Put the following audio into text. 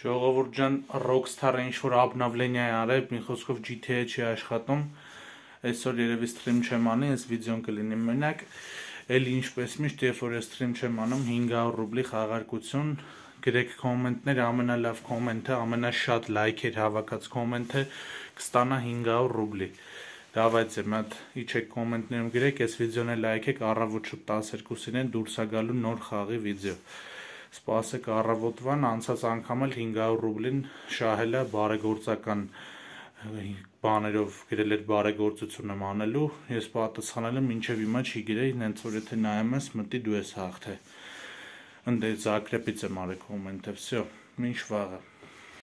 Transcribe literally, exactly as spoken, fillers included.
Ժողովուրդ ջան, Rockstar-ը ինչ-որ обновление արել, մի խոսքով G T A չի աշխատում, այսօր երևի սթրիմ չեմ անի, այս վիդեոն կլինի մենակ, էլի ինչպես միշտ, երբ որ ես սթրիմ չեմ անում, հինգ հարյուր ռուբլի խաղարկություն, գրեք կոմենտներ, ամենալավ կոմենտը, ամենաշատ լայքեր հավաքած կոմենտը կստանա հինգ հարյուր ռուբլի։ Давайте, մատ իջեք կոմենտներում գրեք, այս վիդեոն է լայքեք, առավոտ շուտ տասներկուսին են դուրս է գալու նոր խաղի վիդեո։ Սպասեք առավոտվան, անցած անգամ էլ հինգ հարյուր ռուբլին շահել է բարեգործական բաներով գրել էր բարեգործություն եմ անելու, ես պատասխանել եմ մինչև հիմա չի գրեի, նենց որ եթե նայում ես, մտի դու ես հաղթե։ Ընդ Զագրեբից եմ արել կոմենտը, վсё, մինչ վաղը։